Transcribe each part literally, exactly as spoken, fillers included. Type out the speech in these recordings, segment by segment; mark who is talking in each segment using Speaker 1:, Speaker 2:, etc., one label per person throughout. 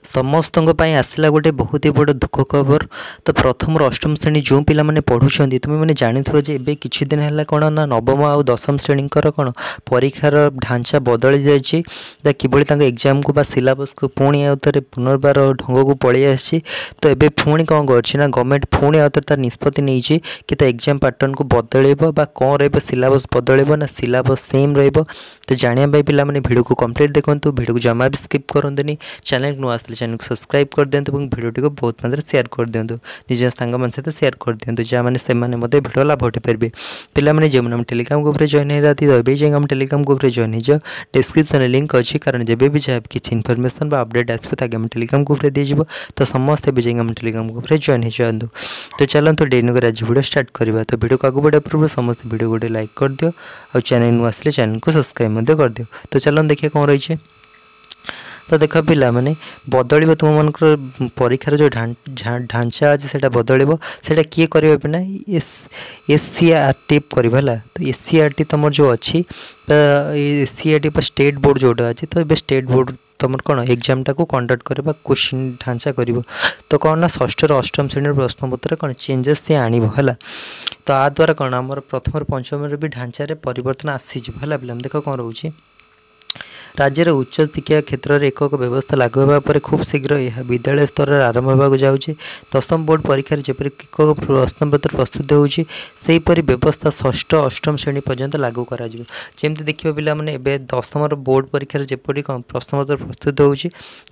Speaker 1: ସମସ୍ତଙ୍କ ପାଇଁ ଆସିଲା ଗୋଟେ ବହୁତ ହି ବଡ଼ ଦୁଃଖ ଖବର। ତ ପ୍ରଥମରୁ ଅଷ୍ଟମ ଶ୍ରେଣୀ ଯେଉଁ ପିଲାମାନେ ପଢ଼ୁଛନ୍ତି, ତୁମେମାନେ ଜାଣିଥିବ ଯେ ଏବେ କିଛି ଦିନ ହେଲା କ'ଣ ନା ନବମ ଆଉ ଦଶମ ଶ୍ରେଣୀଙ୍କର କ'ଣ ପରୀକ୍ଷାର ଢାଞ୍ଚା ବଦଳି ଯାଇଛି ବା କିଭଳି ତାଙ୍କ ଏକ୍ଜାମ୍କୁ ବା ସିଲାବସ୍କୁ ପୁଣି ଆଉ ଥରେ ପୁନର୍ବାର ଢଙ୍ଗକୁ ପଳେଇ ଆସିଛି। ତ ଏବେ ପୁଣି କ'ଣ କରିଛି ନା ଗଭର୍ଣ୍ଣମେଣ୍ଟ ପୁଣି ଆଉ ଥରେ ତାର ନିଷ୍ପତ୍ତି ନେଇଛି କି ତା ଏକ୍ଜାମ୍ ପାଟର୍ନକୁ ବଦଳେଇବ ବା କ'ଣ ରହିବ, ସିଲାବସ୍ ବଦଳେଇବ ନା ସିଲାବସ୍ ସେମ୍ ରହିବ। ତ ଜାଣିବା ପାଇଁ ପିଲାମାନେ ଭିଡ଼ିଓକୁ କମ୍ପ୍ଲିଟ୍ ଦେଖନ୍ତୁ, ଭିଡ଼ିଓକୁ ଜମା ବି ସ୍କିପ୍ କରନ୍ତୁନି। ଚ୍ୟାନେଲ୍ ନୂଆ ଆସିଲେ ଚ୍ୟାନେଲକୁ ସବସ୍କ୍ରାଇବ୍ କରିଦିଅନ୍ତୁ ଏବଂ ଭିଡ଼ିଓଟିକୁ ବହୁତ ମାତ୍ରାରେ ସେୟାର କରିଦିଅନ୍ତୁ, ନିଜ ସାଙ୍ଗମାନଙ୍କ ସହିତ ସେୟାର କରିଦିଅନ୍ତୁ, ଯାହାମାନେ ସେମାନେ ମଧ୍ୟ ଭିଡ଼ିଓ ଲାଭ ଉଠାଇପାରିବେ। ପିଲାମାନେ, ଯେଉଁମାନେ ଆମ ଟେଲିଗ୍ରାମ ଗ୍ରୁପ୍ରେ ଜଏନ୍ ହେଇନାହାନ୍ତି, ତ ଏବେ ଯାଇକି ଆମ ଟେଲିଗ୍ରାମ ଗ୍ରୁପ୍ରେ ଜଏନ୍ ହେଇଯାଅ। ଡିସ୍କ୍ରିପ୍ସନ୍ରେ ଲିଙ୍କ୍ ଅଛି, କାରଣ ଯେବେ ବି ଯାହା କିଛି ଇନଫର୍ମେସନ୍ ବା ଅପଡ଼େଟ୍ ଆସିବ, ତାকে ଆମ ଟେଲିଗ୍ରାମ ଗ୍ରୁପ୍ରେ ଦିଆଯିବ। ତ ସମସ୍ତେ ଏବେ ଯାଇକି ଆମ ଟେଲିଗ୍ରାମ ଗ୍ରୁପ୍ରେ ଜଏନ୍ ହେଇଯାଆନ୍ତୁ। ତ ଚାଲନ୍ତୁ ଡେରି ନକରି ଆଜି ଭିଡ଼ିଓ ଷ୍ଟାର୍ଟ କରିବା। ତ ଭିଡ଼ିଓକୁ ଆଗକୁ ବଢ଼ିବା ପୂର୍ବରୁ ସମସ୍ତେ ଭିଡ଼ିଓ ଗୋଟେ ଲାଇକ୍ କରିଦିଅ ଆଉ ଚ୍ୟାନେଲ୍ ନୂଆ ଆସିଲେ ଚ୍ୟାନେଲକୁ ସବସ୍କ୍ରାଇବ୍ ମଧ୍ୟ କରିଦିଅ। ତ ଚାଲନ୍ତୁ ଦେଖିବା କ'ଣ ରହିଛି। ତ ଦେଖ ପିଲାମାନେ, ବଦଳିବ ତୁମମାନଙ୍କର ପରୀକ୍ଷାର ଯେଉଁ ଢାଞ୍ଚା ଅଛି, ସେଇଟା ବଦଳିବ। ସେଇଟା କିଏ କରିବ ନା ଏସ୍ ଏସ୍ ସି ଆର୍ ଟି କରିବ, ହେଲା। ତ ଏସ୍ ସି ଆର୍ ଟି ତୁମର ଯେଉଁ ଅଛି, ତ ଏସ୍ ସି ଆର୍ ଟି ବା ଷ୍ଟେଟ୍ ବୋର୍ଡ଼ ଯେଉଁଟା ଅଛି, ତ ଏବେ ଷ୍ଟେଟ୍ ବୋର୍ଡ଼ ତୁମର କ'ଣ ଏକ୍ଜାମ୍ଟାକୁ କଣ୍ଡକ୍ଟ କରିବ, କୋଶ୍ଚିନ୍ ଢାଞ୍ଚା କରିବ। ତ କ'ଣ ନା ଷଷ୍ଠରୁ ଅଷ୍ଟମ ଶ୍ରେଣୀର ପ୍ରଶ୍ନପତ୍ର କ'ଣ ଚେଞ୍ଜେସ୍ ସିଏ ଆଣିବ, ହେଲା। ତ ଆ ଦ୍ୱାରା କ'ଣ ଆମର ପ୍ରଥମରୁ ପଞ୍ଚମରେ ବି ଢାଞ୍ଚାରେ ପରିବର୍ତ୍ତନ ଆସିଯିବ, ହେଲା। ପିଲାମାନେ, ଦେଖ କ'ଣ ରହୁଛି। ରାଜ୍ୟରେ ଉଚ୍ଚ ଶିକ୍ଷା କ୍ଷେତ୍ରରେ ଏକକ ବ୍ୟବସ୍ଥା ଲାଗୁ ହେବା ପରେ ଖୁବ୍ ଶୀଘ୍ର ଏହା ବିଦ୍ୟାଳୟ ସ୍ତରରେ ଆରମ୍ଭ ହେବାକୁ ଯାଉଛି। ଦଶମ ବୋର୍ଡ଼ ପରୀକ୍ଷାରେ ଯେପରି ଏକକ ପ୍ରଶ୍ନପତ୍ର ପ୍ରସ୍ତୁତ ହେଉଛି, ସେହିପରି ବ୍ୟବସ୍ଥା ଷଷ୍ଠ ଅଷ୍ଟମ ଶ୍ରେଣୀ ପର୍ଯ୍ୟନ୍ତ ଲାଗୁ କରାଯିବ। ଯେମିତି ଦେଖିବ ପିଲାମାନେ, ଏବେ ଦଶମର ବୋର୍ଡ଼ ପରୀକ୍ଷାରେ ଯେପରି କ'ଣ ପ୍ରଶ୍ନପତ୍ର ପ୍ରସ୍ତୁତ ହେଉଛି,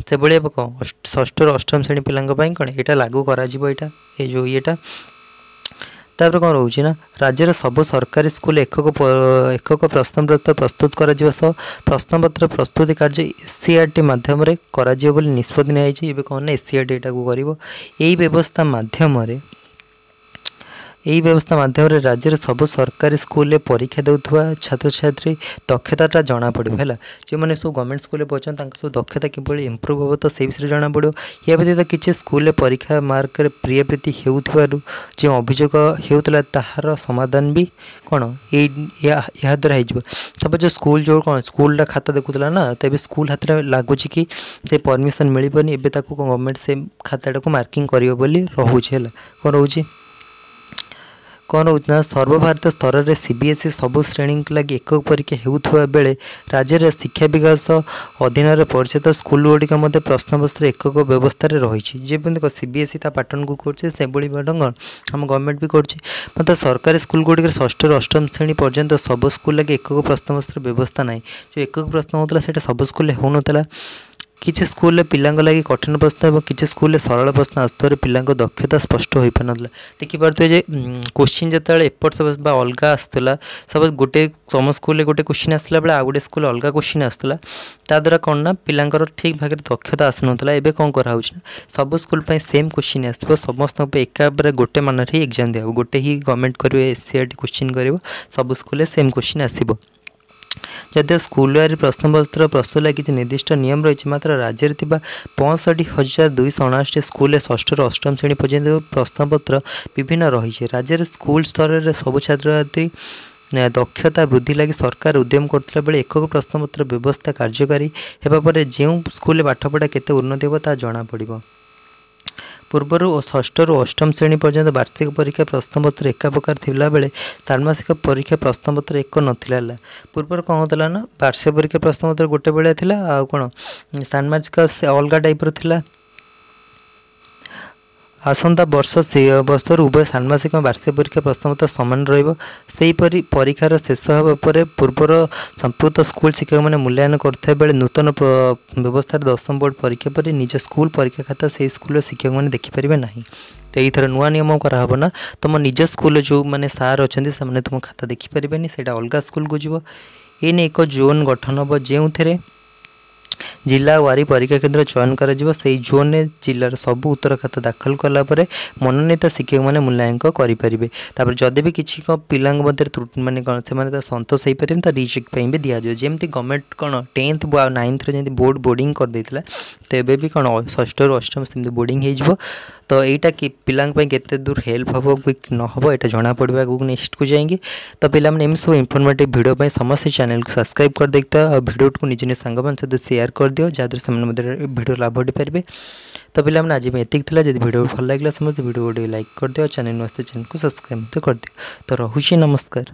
Speaker 1: ସେଭଳି ଏବେ କ'ଣ ଷଷ୍ଠରୁ ଅଷ୍ଟମ ଶ୍ରେଣୀ ପିଲାଙ୍କ ପାଇଁ କ'ଣ ଏଇଟା ଲାଗୁ କରାଯିବ, ଏଇଟା ଏ ଯେଉଁ ଇଏଟା। ତାପରେ କ'ଣ ରହୁଛି ନା ରାଜ୍ୟର ସବୁ ସରକାରୀ ସ୍କୁଲ ଏକକ ଏକକ ପ୍ରଶ୍ନପତ୍ର ପ୍ରସ୍ତୁତ କରାଯିବା ସହ ପ୍ରଶ୍ନପତ୍ର ପ୍ରସ୍ତୁତି କାର୍ଯ୍ୟ ଏସ୍ ସି ଆର୍ ଟି ମାଧ୍ୟମରେ କରାଯିବ ବୋଲି ନିଷ୍ପତ୍ତି ନିଆଯାଇଛି। ଏବେ କ'ଣ ନା ଏସ୍ ସି ଆର୍ ଟି ଏଟାକୁ କରିବ। ଏହି ବ୍ୟବସ୍ଥା ମାଧ୍ୟମରେ ଏହି ବ୍ୟବସ୍ଥା ମାଧ୍ୟମରେ ରାଜ୍ୟର ସବୁ ସରକାରୀ ସ୍କୁଲରେ ପରୀକ୍ଷା ଦେଉଥିବା ଛାତ୍ରଛାତ୍ରୀ ଦକ୍ଷତାଟା ଜଣାପଡ଼ିବ, ହେଲା। ଯେଉଁମାନେ ସବୁ ଗଭର୍ଣ୍ଣମେଣ୍ଟ ସ୍କୁଲରେ ପଢ଼ୁଛନ୍ତି, ତାଙ୍କ ସବୁ ଦକ୍ଷତା କିଭଳି ଇମ୍ପ୍ରୁଭ୍ ହେବ, ତ ସେଇ ବିଷୟରେ ଜଣାପଡ଼ିବ। ଏହା ବ୍ୟତୀତ କିଛି ସ୍କୁଲରେ ପରୀକ୍ଷା ମାର୍କରେ ପ୍ରିୟାପ୍ରୀତି ହେଉଥିବାରୁ ଯେଉଁ ଅଭିଯୋଗ ହେଉଥିଲା, ତାହାର ସମାଧାନ ବି କ'ଣ ଏଇ ଏହା ଦ୍ୱାରା ହେଇଯିବ। ସପୋଜ୍ ଯେଉଁ ସ୍କୁଲ ଯେଉଁ କ'ଣ ସ୍କୁଲଟା ଖାତା ଦେଖୁଥିଲା ନା, ତ ଏବେ ସ୍କୁଲ ହାତରେ ଲାଗୁଛି କି ସେ ପରମିସନ୍ ମିଳିବନି। ଏବେ ତାକୁ ଗଭର୍ଣ୍ଣମେଣ୍ଟ ସେ ଖାତାଟାକୁ ମାର୍କିଂ କରିବ ବୋଲି ରହୁଛି, ହେଲା। କ'ଣ ରହୁଛି କ'ଣ ରହୁଛି ନା ସର୍ବଭାରତୀୟ ସ୍ତରରେ ସି ବି ଏସ୍ ଇ ସବୁ ଶ୍ରେଣୀଙ୍କ ଲାଗି ଏକକ ପରୀକ୍ଷା ହେଉଥିବା ବେଳେ ରାଜ୍ୟରେ ଶିକ୍ଷା ବିକାଶ ଅଧୀନରେ ପରିଚାଳିତ ସ୍କୁଲଗୁଡ଼ିକ ମଧ୍ୟ ପ୍ରଶ୍ନପତ୍ର ଏକକ ବ୍ୟବସ୍ଥାରେ ରହିଛି। ଯେମିତି ସି ବି ଏସ୍ ଇ ତା ପାଟର୍ନକୁ କରୁଛି, ସେଭଳି ପାଟର୍ନ ଆମ ଗଭର୍ଣ୍ଣମେଣ୍ଟ ବି କରୁଛି। ମାତ୍ର ସରକାରୀ ସ୍କୁଲଗୁଡ଼ିକରେ ଷଷ୍ଠରୁ ଅଷ୍ଟମ ଶ୍ରେଣୀ ପର୍ଯ୍ୟନ୍ତ ସବୁ ସ୍କୁଲ ଲାଗି ଏକକ ପ୍ରଶ୍ନପତ୍ର ବ୍ୟବସ୍ଥା ନାହିଁ। ଯେଉଁ ଏକକ ପ୍ରଶ୍ନ ହେଉଥିଲା, ସେଇଟା ସବୁ ସ୍କୁଲରେ ହେଉନଥିଲା। କିଛି ସ୍କୁଲରେ ପିଲାଙ୍କ ଲାଗି କଠିନ ପ୍ରଶ୍ନ ଏବଂ କିଛି ସ୍କୁଲରେ ସରଳ ପ୍ରଶ୍ନ ଆସୁଥିବାରୁ ପିଲାଙ୍କ ଦକ୍ଷତା ସ୍ପଷ୍ଟ ହୋଇପାରୁନଥିଲା। ଦେଖିପାରୁଥିବେ ଯେ କୋଶ୍ଚିନ୍ ଯେତେବେଳେ ଏପଟ ସେପଟ ବା ଅଲଗା ଆସୁଥିଲା, ସପୋଜ୍ ଗୋଟେ ତୁମ ସ୍କୁଲରେ ଗୋଟେ କୋଶ୍ଚିନ୍ ଆସିଲା ବେଳେ ଆଉ ଗୋଟେ ସ୍କୁଲରେ ଅଲଗା କୋଶ୍ଚିନ୍ ଆସୁଥିଲା, ତା ଦ୍ୱାରା କ'ଣ ନା ପିଲାଙ୍କର ଠିକ୍ ଭାବରେ ଦକ୍ଷତା ଆସୁନଥିଲା। ଏବେ କ'ଣ କରାହେଉଛି ନା ସବୁ ସ୍କୁଲ ପାଇଁ ସେମ୍ କୋଶ୍ଚିନ୍ ଆସିବ, ସମସ୍ତଙ୍କ ପାଇଁ ଏକାବରେ ଗୋଟେ ମାନରେ ହିଁ ଏକ୍ଜାମ୍ ଦିଆହେବ। ଗୋଟେ ହିଁ ଗଭର୍ଣ୍ଣମେଣ୍ଟ କରିବେ, ଏସ୍ ସି ଆର୍ ଟି କୋଶ୍ଚିନ୍ କରିବ, ସବୁ ସ୍କୁଲରେ ସେମ୍ କୋଶ୍ଚିନ୍ ଆସିବ। ଯଦିଓ ସ୍କୁଲରେ ପ୍ରଶ୍ନପତ୍ର ପ୍ରସ୍ତୁତ ଲାଗି କିଛି ନିର୍ଦ୍ଦିଷ୍ଟ ନିୟମ ରହିଛି, ମାତ୍ର ରାଜ୍ୟରେ ଥିବା ପଞ୍ଚଷଠି ହଜାର ଦୁଇଶହ ଅଣାଅଶୀ ସ୍କୁଲରେ ଷଷ୍ଠରୁ ଅଷ୍ଟମ ଶ୍ରେଣୀ ପର୍ଯ୍ୟନ୍ତ ପ୍ରଶ୍ନପତ୍ର ବିଭିନ୍ନ ରହିଛି। ରାଜ୍ୟରେ ସ୍କୁଲ ସ୍ତରରେ ସବୁ ଛାତ୍ରଛାତ୍ରୀ ଦକ୍ଷତା ବୃଦ୍ଧି ଲାଗି ସରକାର ଉଦ୍ୟମ କରୁଥିବା ବେଳେ ଏକକ ପ୍ରଶ୍ନପତ୍ର ବ୍ୟବସ୍ଥା କାର୍ଯ୍ୟକାରୀ ହେବା ପରେ ଯେଉଁ ସ୍କୁଲରେ ପାଠପଢ଼ା କେତେ ଉନ୍ନତି ହେବ, ତାହା ଜଣାପଡ଼ିବ। ପୂର୍ବରୁ ଷଷ୍ଠରୁ ଅଷ୍ଟମ ଶ୍ରେଣୀ ପର୍ଯ୍ୟନ୍ତ ବାର୍ଷିକ ପରୀକ୍ଷା ପ୍ରଶ୍ନପତ୍ର ଏକା ପ୍ରକାର ଥିଲାବେଳେ ଷାଣ୍ମାସିକ ପରୀକ୍ଷା ପ୍ରଶ୍ନପତ୍ର ଏକ ନଥିଲା, ହେଲା। ପୂର୍ବରୁ କ'ଣ ହେଉଥିଲା ନା ବାର୍ଷିକ ପରୀକ୍ଷା ପ୍ରଶ୍ନପତ୍ର ଗୋଟେ ଭଳିଆ ଥିଲା ଆଉ କ'ଣ ଷାଣ୍ମାସିକ ସେ ଅଲଗା ଟାଇପ୍ର ଥିଲା। ଆସନ୍ତା ବର୍ଷ ସେ ବର୍ଷରୁ ଉଭୟ ଷାଣ୍ମାସିକ ଏବଂ ବାର୍ଷିକ ପରୀକ୍ଷା ପ୍ରଶ୍ନପତ୍ର ସମାନ ରହିବ। ସେହିପରି ପରୀକ୍ଷାର ଶେଷ ହେବା ପରେ ପୂର୍ବର ସମ୍ପୃକ୍ତ ସ୍କୁଲ ଶିକ୍ଷକମାନେ ମୂଲ୍ୟାୟନ କରୁଥିବା ବେଳେ ନୂତନ ବ୍ୟବସ୍ଥାରେ ଦଶମ ବୋର୍ଡ଼ ପରୀକ୍ଷା ପରେ ନିଜ ସ୍କୁଲ ପରୀକ୍ଷା ଖାତା ସେହି ସ୍କୁଲର ଶିକ୍ଷକମାନେ ଦେଖିପାରିବେ ନାହିଁ। ତ ଏଇଥର ନୂଆ ନିୟମ କରାହେବ ନା ତୁମ ନିଜ ସ୍କୁଲରେ ଯେଉଁମାନେ ସାର୍ ଅଛନ୍ତି, ସେମାନେ ତୁମ ଖାତା ଦେଖିପାରିବେନି, ସେଇଟା ଅଲଗା ସ୍କୁଲକୁ ଯିବ। ଏ ନେଇ ଏକ ଜୋନ୍ ଗଠନ ହେବ, ଯେଉଁଥିରେ ଜିଲ୍ଲା ୱାରୀ ପରୀକ୍ଷା କେନ୍ଦ୍ର ଚୟନ କରାଯିବ। ସେହି ଜୋନ୍ରେ ଜିଲ୍ଲାର ସବୁ ଉତ୍ତର ଖାତା ଦାଖଲ କଲା ପରେ ମନୋନୀତ ଶିକ୍ଷକମାନେ ମୂଲ୍ୟାଙ୍କ କରିପାରିବେ। ତାପରେ ଯଦି ବି କିଛି କ'ଣ ପିଲାଙ୍କ ମଧ୍ୟରେ ମାନେ କ'ଣ ସେମାନେ ତ ସନ୍ତୋଷ ହେଇପାରିବେନି, ତ ରିଚେକ୍ ପାଇଁ ବି ଦିଆଯିବ। ଯେମିତି ଗଭର୍ଣ୍ଣମେଣ୍ଟ କ'ଣ ଟେନ୍ଥ ଆଉ ନାଇନ୍ଥରେ ଯେମିତି ବୋର୍ଡ଼ ବୋର୍ଡ଼ିଂ କରିଦେଇଥିଲା, ତ ଏବେ ବି କ'ଣ ଷଷ୍ଠରୁ ଅଷ୍ଟମ ସେମିତି ବୋର୍ଡ଼ିଂ ହେଇଯିବ। ତ ଏଇଟା କି ପିଲାଙ୍କ ପାଇଁ କେତେ ଦୂର ହେଲ୍ପ ହେବ କି ନ ହେବ, ଏଇଟା ଜଣାପଡ଼ିବ ଆଗକୁ ନେକ୍ସଟକୁ ଯାଇକି। ତ ପିଲାମାନେ, ଏମିତି ସବୁ ଇନଫର୍ମେଟିଭ୍ ଭିଡ଼ିଓ ପାଇଁ ସମସ୍ତେ ଚ୍ୟାନେଲକୁ ସବସ୍କ୍ରାଇବ୍ କରିଦେଇଥାଅ ଆଉ ଭିଡ଼ିଓଟିକୁ ନିଜ ନିଜ ସାଙ୍ଗମାନଙ୍କ ସହିତ ସେୟାର ସେୟାର କରିଦିଅ, ଯାହାଦ୍ୱାରା ସେମାନେ ମଧ୍ୟ ଭିଡ଼ିଓ ଲାଭ ଉଠେଇପାରିବେ। ତ ପିଲାମାନେ, ଆଜି ପାଇଁ ଏତିକି ଥିଲା। ଯଦି ଭିଡ଼ିଓ ଭଲ ଲାଗିଲା, ସମସ୍ତେ ଭିଡ଼ିଓ ଗୋଟେ ଲାଇକ୍ କରିଦିଅ। ଚ୍ୟାନେଲ୍ ନୂଆ ଚ୍ୟାନେଲକୁ ସବସ୍କ୍ରାଇବ୍ ମଧ୍ୟ କରିଦିଅ। ତ ରହୁଛି, ନମସ୍କାର।